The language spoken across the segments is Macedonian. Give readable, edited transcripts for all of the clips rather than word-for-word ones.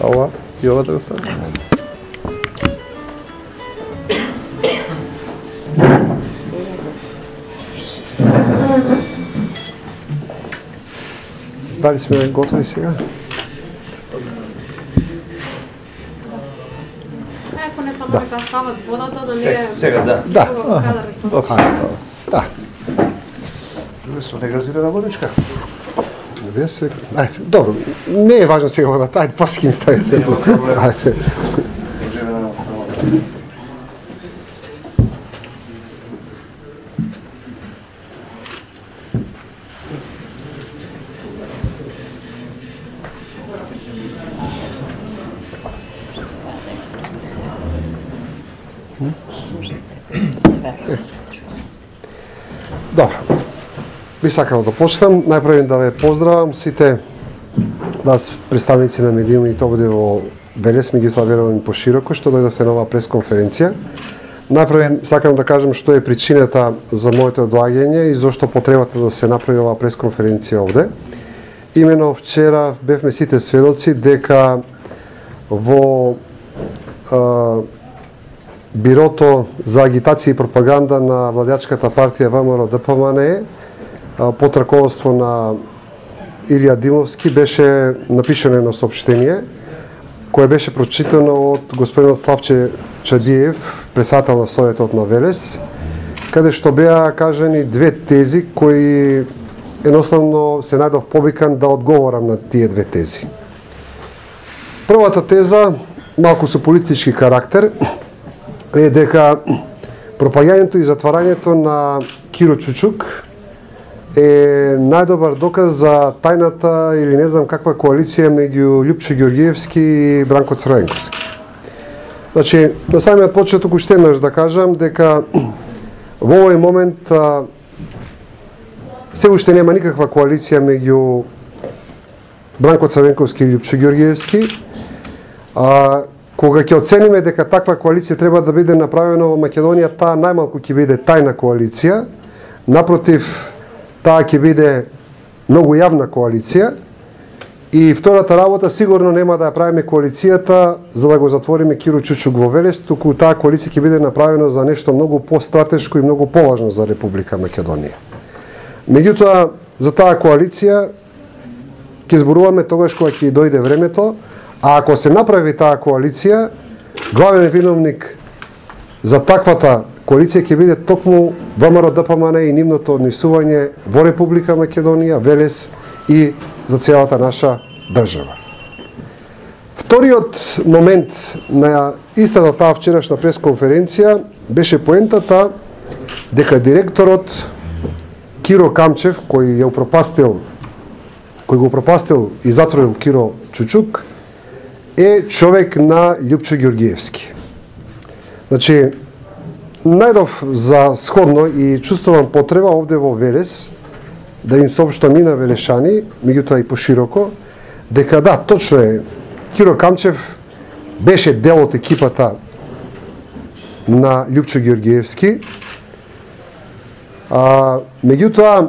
ова и ова да остане. Дали сме готови сега? Ако не само дека стават водата, да не е... Сега, да. Да. Да. Со негазирана водичка. Ајде, добро, не е важно сега водата, ајде, после ќе ми ставите. Ајде. Добро. Би сакал да почнам. Најпрво да ве поздравам сите вас представници на медиумите овде во Велес, меѓутоа верувам пошироко што дојдовте на оваа пресконференција. Најпрво сакам да кажам што е причината за моето доаѓање и зошто потребата да се направи оваа пресконференција овде. Имено вчера бевме сите сведоци дека во Бирото за агитација и пропаганда на владеачката партија ВМРО-ДПМНЕ под раководство на Илија Димовски беше напишано едно соопштение кое беше прочитано од господинот Славче Чадиев, председател на Советот на Велес, каде што беа кажани две тези кои едноставно се најдов повикан да одговорам на тие две тези. Првата теза, малку со политички карактер, е дека пропаѓањето и затварањето на Киро Чучук е најдобар доказ за тајната или не знам каква коалиција меѓу Љупчо Ѓорѓиевски и Бранко Црвенковски. Значи, на самиот почеток уште еднаш да кажам дека во овој момент се уште нема никаква коалиција меѓу Бранко Црвенковски и Љупчо Ѓорѓиевски. Кога ќе оцениме дека таква коалиција треба да биде направена во Македонија, таа најмалку ќе биде тајна коалиција, напротив, таа ќе биде многу јавна коалиција и втората работа сигурно нема да ја правиме коалицијата за да го затвориме Киро Чучук во Велес, туку таа коалиција ќе биде направена за нешто многу постратешко и многу поважно за Република Македонија. Меѓутоа, за таа коалиција ќе зборуваме тогаш кога ќе дојде времето, а ако се направи таа коалиција, главен виновник за таквата коалиција ќе биде токму ВМРО-ДПМНЕ и нивното однесување во Република Македонија, Велес и за целата наша држава. Вториот момент на истата таа вчерашна пресконференција беше поентата дека директорот Киро Камчев, кој го упропастил и затворил Киро Чучук, е човек на Љупчо Ѓорѓиевски. Значи, најдов за сходно и чувствувам потреба овде во Велес да им соопштам и на велешани, меѓутоа и пошироко, дека да, точно е, Киро Камчев беше дел од екипата на Љупчо Ѓорѓиевски. Меѓутоа,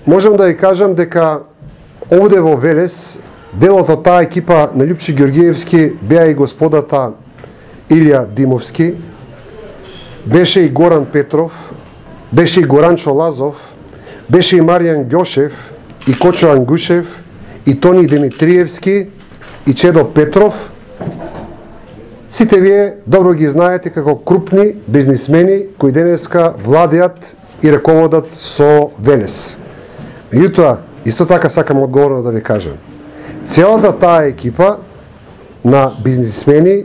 можам да ви кажам дека овде во Велес делот од таа екипа на Љупчо Ѓорѓиевски беа и господата Илија Димовски, беше и Горан Петров, беше и Горанчо Лазов, беше и Маријан Ѓошев, и Кочо Ангушев, и Тони Димитриевски, и Чедо Петров. Сите вие добро ги знаете како крупни бизнисмени кои денеска владеат и раководат со Велес. Меѓутоа, исто така сакам одговорно да ви кажам, целата таа екипа на бизнисмени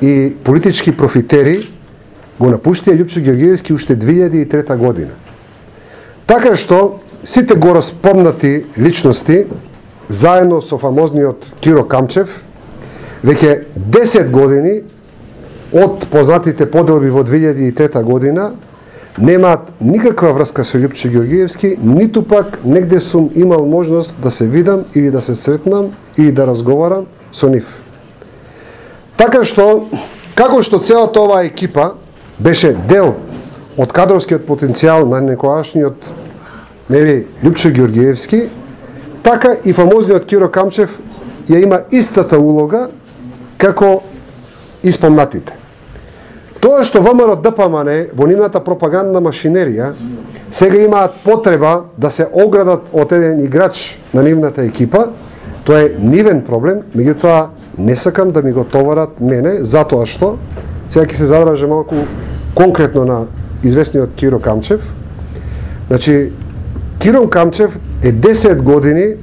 и политички профитери го напуштија Љупчо Ѓорѓиевски уште 2003 година. Така што сите го распомнати личности, заедно со фамозниот Киро Камчев, веќе 10 години од познатите поделби во 2003 година немаат никаква врска со Љупчо Ѓорѓиевски, ниту пак негде сум имал можност да се видам или да се сретнам или да разговарам со нив. Така што, како што целата оваа екипа беше дел од кадровскиот потенцијал на некојашниот Љупчо Ѓорѓиевски, така и фамозниот Киро Камчев ја има истата улога како испомнатите. Тоа што ВМРО ДПМН во нивната пропагандна машинерија сега имаат потреба да се оградат од еден играч на нивната екипа, тоа е нивен проблем, меѓутоа не сакам да ми го товарат мене, затоа што, сега ќе се задржам малку конкретно на известниот Киро Камчев. Значи, Киро Камчев е 10 години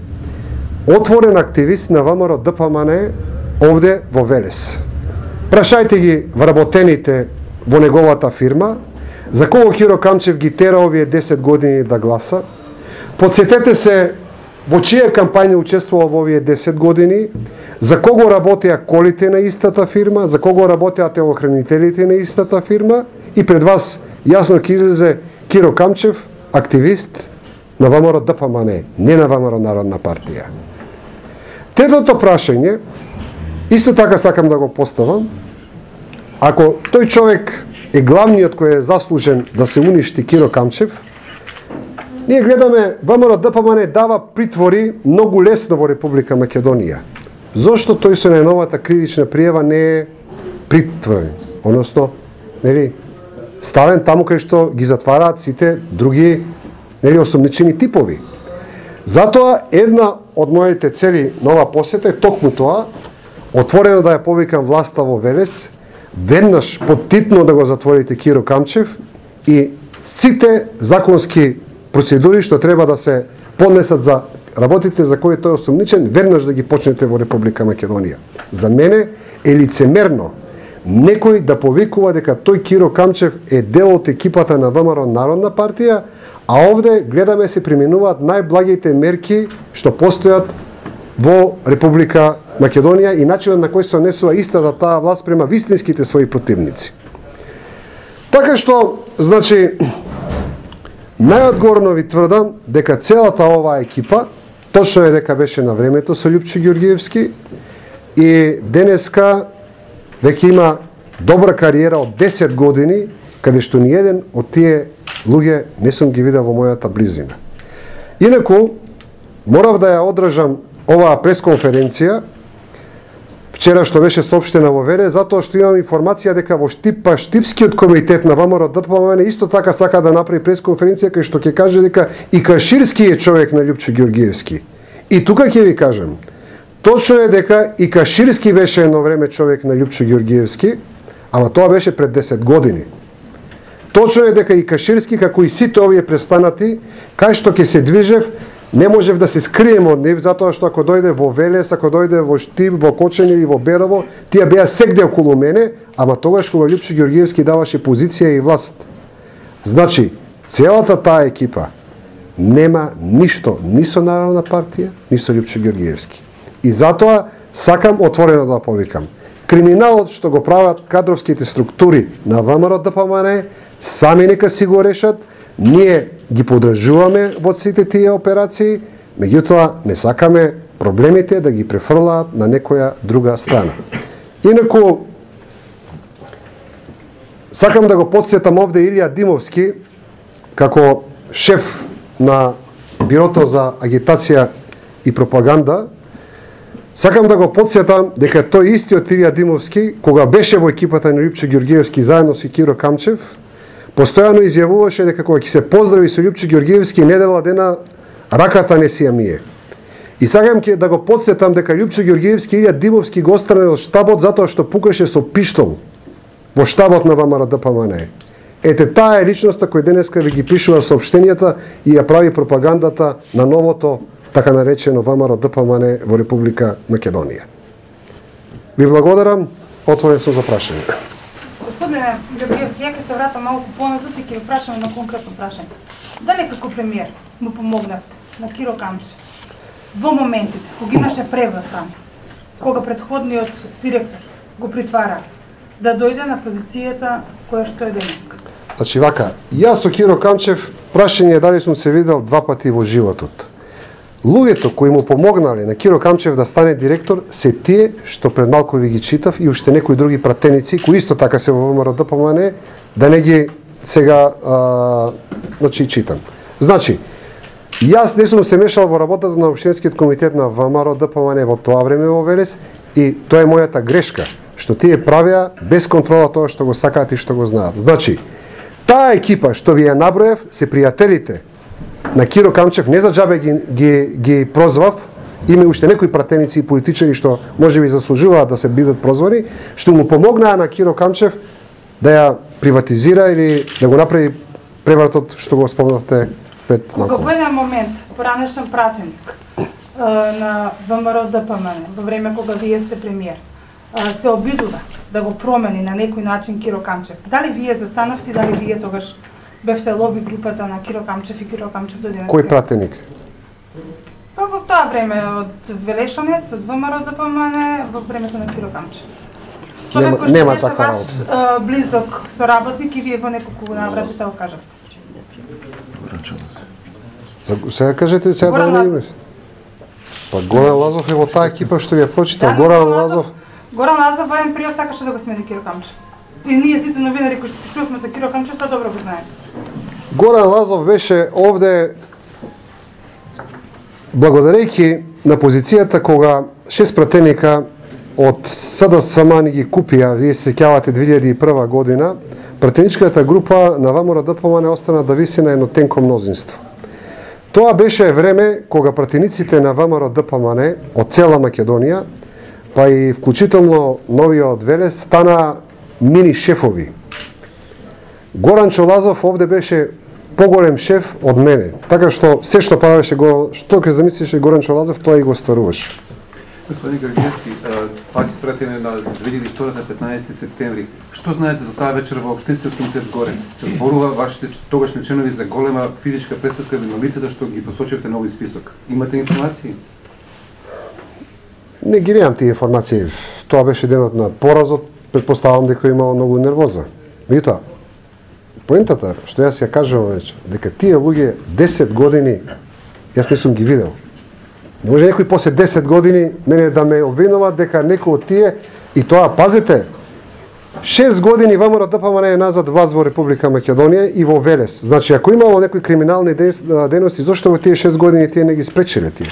отворен активист на ВМРО ДПМН овде во Велес. Прашајте ги вработените во неговата фирма, за кого Киро Камчев ги тера овие 10 години да гласа. Подсетете се во чија кампања учествувал во овие 10 години, за кого работеа колите на истата фирма, за кого работеа телохранителите на истата фирма и пред вас јасно ќе излезе Киро Камчев, активист на ВМРО ДПМН, не на ВМРО Народна партија. Третото прашање, исто така сакам да го поставам, ако тој човек е главниот кој е заслужен да се уништи Киро Камчев, ние гледаме ВМРО ДПМН дава притвори многу лесно во Република Македонија. Зошто тој со најновата кривична пријава не е притворен, односно, нели, ставен таму кај што ги затвараат сите други, нели, осомничени типови. Затоа една од моите цели на ова посета е токму тоа, отворено да ја повикам власта во Велес, веднаш поттитно да го затворите Киро Камчев и сите законски процедури што треба да се поднесат за работите за кои тој е осомничен, веднаш да ги почнете во Република Македонија. За мене е лицемерно некој да повикува дека тој Киро Камчев е дел од екипата на ВМРО Народна партија, а овде гледаме се применуваат најблагите мерки што постојат во Република Македонија и начинот на кој се однесува истата таа власт према вистинските своји противници. Така што, значи, најодговорно ви тврдам дека целата оваа екипа, точно е дека беше на времето со Лјупчо Ѓорѓиевски и денеска веќе има добра кариера од 10 години, каде што ни еден од тие луѓе не сум ги видел во мојата близина. Инаку, морав да ја одржам оваа пресконференција, вчера што беше соопштена во Велес, затоа што имам информација дека во Штипскиот комитет на ВМРО ДПМН исто така сака да направи пресконференција кај што ќе каже дека и Каширски е човек на Лјупчо Ѓорѓиевски. И тука ќе ви кажам, точно е дека и Каширски беше едно време човек на Лјупчо Ѓорѓиевски, ама тоа беше пред 10 години. Точно е дека и Каширски, како и сите овие престанати, кај што ќе се движев, не можев да се скрием од нив, затоа што ако дојде во Велес, ако дојде во Штип, во Кочани или во Берово, тие беа сегде околу мене, ама тогаш кога Лјупчо Ѓорѓиевски даваше позиција и власт. Значи, целата таа екипа нема ништо ни со Народна партија, ни со Лјупчо Ѓорѓиевски. И затоа сакам отворено да повикам. Криминалот што го прават кадровските структури на ВМРО ДПМН, сами нека си го решат, ние ги подржуваме во сите тие операции, меѓутоа не сакаме проблемите да ги префрлаат на некоја друга страна. Инаку, сакам да го подсетам овде Илија Димовски, како шеф на Бирото за агитација и пропаганда, сакам да го подсетам дека тој истиот Илија Димовски, кога беше во екипата на Лјупчо Ѓорѓиевски заедно со Киро Камчев, постојано изјавуваше дека кога ќе се поздрави со Лјупчо Ѓорѓиевски недела дена раката не си ја мие. И сакам ќе да го подсетам дека Лјупчо Ѓорѓиевски и Илија Димовски го отстрани од штабот затоа што пукаше со пиштол во штабот на ВМРО ДПМН. Ете таа е личноста кој денеска ви ги пишува соопштенијата и ја прави пропагандата на новото така наречено ВМРО ДПМН во Република Македонија. Ви благодарам, отворен сум за прашање. Господине Ѓорѓиевски, ја ќе се вратам малку поназад и ќе ви прашам на конкретно прашање. Дали како премиер му помогнат на Киро Камчев во моментите кога имаше преврастан, кога претходниот директор го притвара, да дојде на позицијата која што е денеска? Значи вака, јас со Киро Камчев прашање дали сум се видел 2 пати во животот. Луѓето кои му помогнале на Киро Камчев да стане директор се тие што пред малку ви ги читав и уште некои други пратеници кои исто така се во ВМРО ДПМН, да не ги сега значи читам. Значи, Јас не сум се мешал во работата на општинскиот комитет на ВМРО ДПМН во тоа време во Велес и тоа е мојата грешка, што тие правеа без контрола тоа што го сакаат и што го знаат. Значи, таа екипа што ви ја наброев се пријателите на Киро Камчев, не за џабе ги прозвав, има уште некои пратеници и политичари што можеби заслужуваат да се бидат прозвани, што му помогнаа на Киро Камчев да ја приватизира или да го направи превратот што го спомнавте пред малку. Кога во еден момент, поранешен пратеник на ВМРО ДПМН, во време кога вие сте премиер, се обидува да го промени на некој начин Киро Камчев. Дали вие застанавте, дали вие тогаш бевте лоби групата на Киро Камчев и Киро Камчев додине? Кој пратеник? Па во тоа време од Велешанец, од ВМРО ДПМН, во времето на Киро Камчев. Нема така работа. Близок соработник и вие во неколку наврати да го кажавте. Сега кажете, сега да не име. Па Горан Лазов е во таа екипа што ја прочитал. Горан Лазов во еден период сакаше да го смени Киро Камчев. И ние сите новинари кои пишувавме за Киро Камчев, тоа добро го знаеме. Горан Лазов беше овде благодарејќи на позицијата кога 6 пратеника од СДСМ ни ги купија, вие се сеќавате 2001 година, пратеничката група на ВМРО ДПМН остана да виси на едно тенко мнозинство. Тоа беше време кога пратениците на ВМРО ДПМН од цела Македонија, па и вклучително новиот Велес, стана мини шефови. Горан Лазов овде беше поголем шеф од мене, така што се што правеше што ќе замислише Горан Лазов, тоа и го стваруваше. Господин Георгиевски, пак се вратиме на 2002 на 15 септември. Што знаете за таа вечер во општинскиот комитет горе? Се зборува вашите тогашни членови за голема физичка престапка на лицата што ги посочивте на овој список. Имате информации? Не ги немам тие информации. Тоа беше денот на поразот, предпоставам дека имало многу нервоза. Меѓутоа, поентата што јас ја кажувам веќе, дека тие луѓе 10 години јас не сум ги видел. Не може некој после 10 години мене да ме обвинува дека некој од тие, и тоа, пазите, 6 години ВМРО ДПМН е назад власт во Република Македонија и во Велес. Значи, ако имало некои криминални дејности, зошто во тие 6 години тие не ги спречеле тие?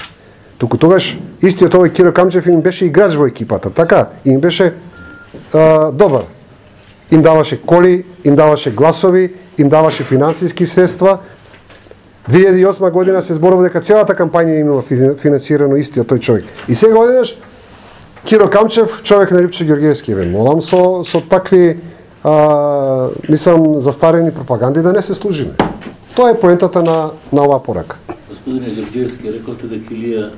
Туку тогаш истиот овој Киро Камчев им беше играч во екипата, така, им беше добар. Им даваше коли, им даваше гласови, им даваше финансиски средства. 2008 година се зборува дека целата кампања имала финансирано истиот тој човек. И сега одедеш Киро Камчев, човек на Липче Георгиевски, молам со такви мислам застарени пропаганди да не се служиме. Тоа е поентата на оваа порака. Господине Георгиевски, рековте дека Илија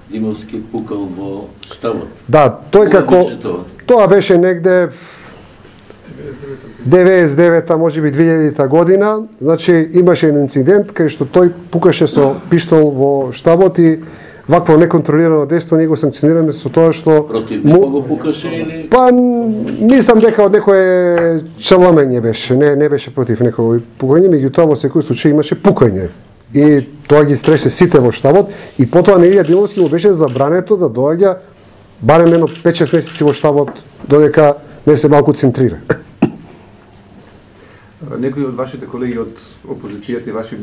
Димовски пукал во штабот. Да, тој како тоа беше негде 99-та, можеби 2000-та година, значи имаше еден инцидент кај што тој пукаше со пиштол во штабот и вакво неконтролирано дејство ние го санкционираме со тоа што против него го пукаше или па мислам дека од некое чаламење беше, не беше против некој пукање, меѓутоа во секој случај имаше пукање. И тоа ги стресе сите во штабот и потоа на Илија Димовски му беше забрането да доаѓа барем едно 5-6 месеци во штабот додека не се малку центрира. Некои од вашите колеги од опозицијата и ваши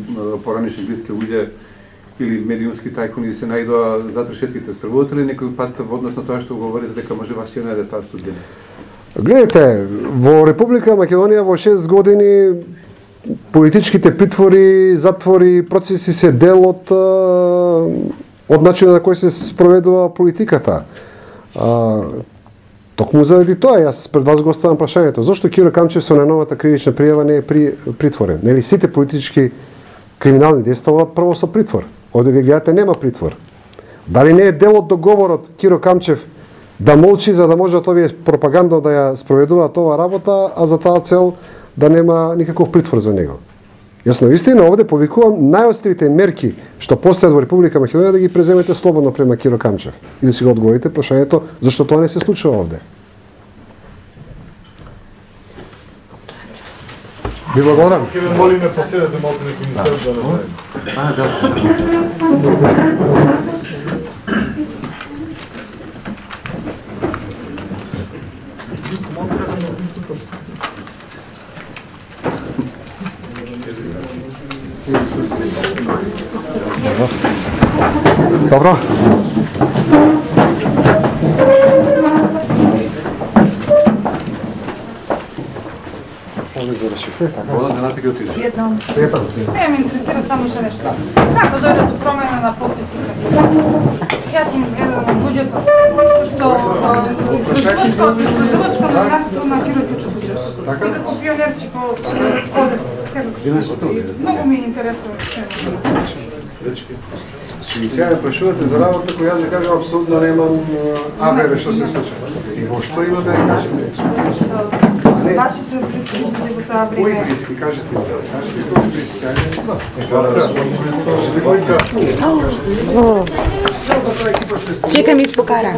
поранешни блиски луѓе или медиумски тајкуни се најдоа зад решетките, стравувате ли некој пат во однос на тоа што говорите дека може вас ќе најде таа судбина? Гледате, во Република Македонија во 6 години политичките притвори, затвори, процеси се дел од начинот на кој се спроведува политиката. Токму заради тоа, јас пред вас го оставам прашањето. Зошто Киро Камчев со најновата кривична пријава не е притворен? Нели сите политички криминални дејства прво со притвор. Овде ви гледате нема притвор. Дали не е дел од договорот Киро Камчев да молчи за да можат овие пропаганда да ја спроведуваат оваа работа, а за таа цел да нема никаков притвор за него? Јас навистина овде повикувам најострите мерки што постојат во Република Македонија да ги преземете слободно према Киро Камчев и да си го одговорите прашањето зашто тоа не се случува овде. Ви благодарам. Ќе ве молиме поседете малку некој мисел да не Добро. Може да зарешите, така? Водата на таки отиде. Едно. Епа, Не, ме интересира само што нешто. Како дојде до промена на подписните кандидати? Јас сум еден од луѓето што истражувачко наследство на Киро Кючукучеш. Така? И како пионерчико одев секако. Многу ми интересува. Сега ме прашувате за работа која јас да кажам апсолутно немам абере што се случува. И во што има да ја кажете? Вашите близки мисли го тоа Кои време. близки, кажете ми. Кажете кои близки, кажете кои близки. Чекам испокара.